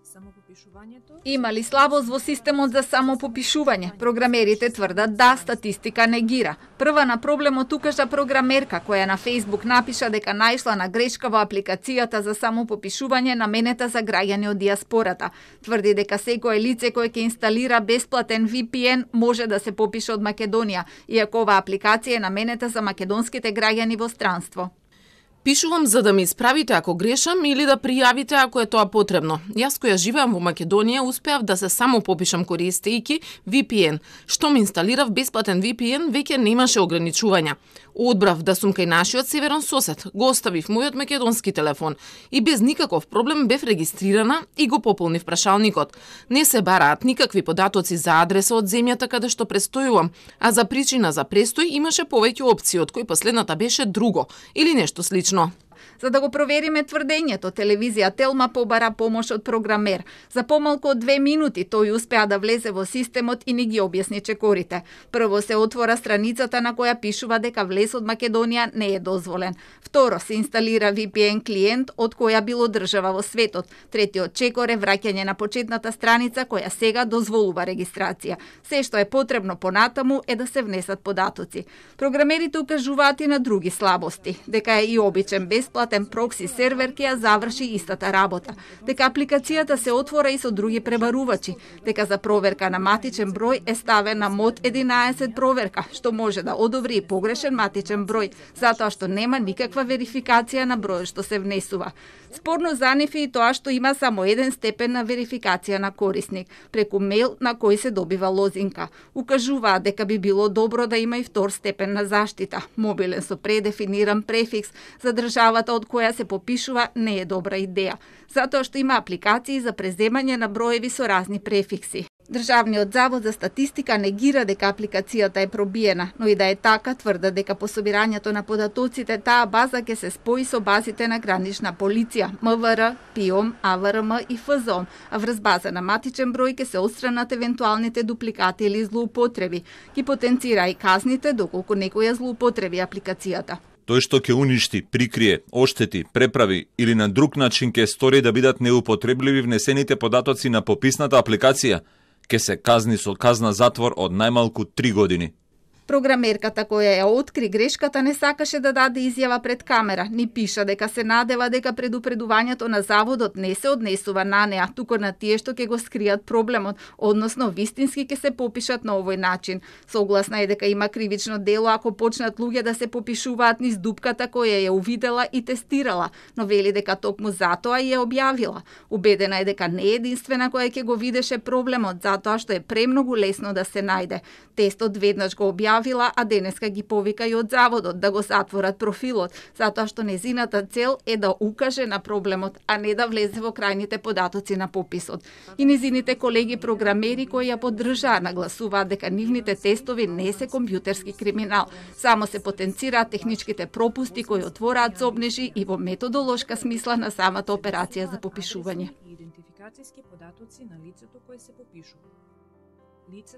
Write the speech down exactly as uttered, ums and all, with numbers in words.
Самопопишувањето Има ли слабост во системот за самопопишување? Програмерите тврдат да, статистика негира. Прва на проблемот укажа програмерка која на Facebook напиша дека најшла на грешка во апликацијата за самопопишување наменета за граѓани од диаспората. Тврди дека секое лице кое ќе инсталира бесплатен V P N може да се попише од Македонија, иако оваа апликација е наменета за македонските граѓани во странство. Пишувам за да ме исправите ако грешам или да пријавите ако е тоа потребно. Јас која живеам во Македонија успеав да се само попишам користејќи V P N. Што ми инсталирав бесплатен V P N, веќе немаше ограничувања. Одбрав да сум кај нашиот северен сосед, го оставив мојот македонски телефон и без никаков проблем бев регистрирана и го пополнив прашалникот. Не се бараат никакви податоци за адреса од земјата каде што престојувам, а за причина за престој имаше повеќе опции, од кои последната беше друго или нешто слично. За да го провериме тврдењето, телевизија Телма побара помош од програмер. За помалку од две минути тој успеа да влезе во системот и ни ги објасни чекорите. Прво се отвора страницата на која пишува дека влез од Македонија не е дозволен. Второ се инсталира V P N клиент од која било држава во светот. Третиот чекор е враќање на почетната страница која сега дозволува регистрација. Се што е потребно понатаму е да се внесат податоци. Програмерите укажуваат и на други слабости, дека е и обичен бесплатен прокси сервер ќе ја заврши истата работа, дека апликацијата се отвора и со други пребарувачи, дека за проверка на матичен број е ставена мод единаесет проверка, што може да одобри и погрешен матичен број, затоа што нема никаква верификација на бројот што се внесува. Спорно за нив е и тоа што има само еден степен на верификација на корисник, преку мејл на кој се добива лозинка. Укажуваат дека би било добро да има и втор степен на заштита. Мобилен со предефиниран префикс за државата од која се попишува не е добра идеја, затоа што има апликации за преземање на броеви со разни префикси. Државниот завод за статистика негира дека апликацијата е пробиена, но и да е така тврда дека по собирањето на податоците таа база ќе се спои со базите на гранична полиција, М В Р, ПИОМ, А В Р М и Ф З О М, а врз база на матичен број ќе се отстранат евентуалните дупликати или злоупотреби. Ги потенцира и казните доколку некој ја злоупотреби апликацијата. Тој што ќе уништи, прикрие, оштети, преправи или на друг начин ќе стори да бидат неупотребливи внесените податоци на пописната апликација, ќе се казни со казна затвор од најмалку три години. Програмерката која ја откри грешката не сакаше да даде изјава пред камера, ни пиша дека се надева дека предупредувањето на заводот не се однесува на неа, туку на тие што ќе го скријат проблемот, односно вистински ќе се попишат на овој начин. Согласна е дека има кривично дело ако почнат луѓе да се попишуваат низ дупката која ја увидела и тестирала, но вели дека токму затоа ја објавила. Убедена е дека не е единствена која ќе го видеше проблемот, затоа што е премногу лесно да се најде. Тестот веднаш го објавила, а денеска ги повика и од заводот да го затворат профилот, затоа што незината цел е да укаже на проблемот, а не да влезе во крајните податоци на пописот. И незините колеги програмери кои ја поддржаа нагласуваат дека нивните тестови не се компјутерски криминал, само се потенцираат техничките пропусти кои отвораат зобнежи и во методолошка смисла на самата операција за попишување. Идентификацијски податоци на лицето кое се попишува. Лицето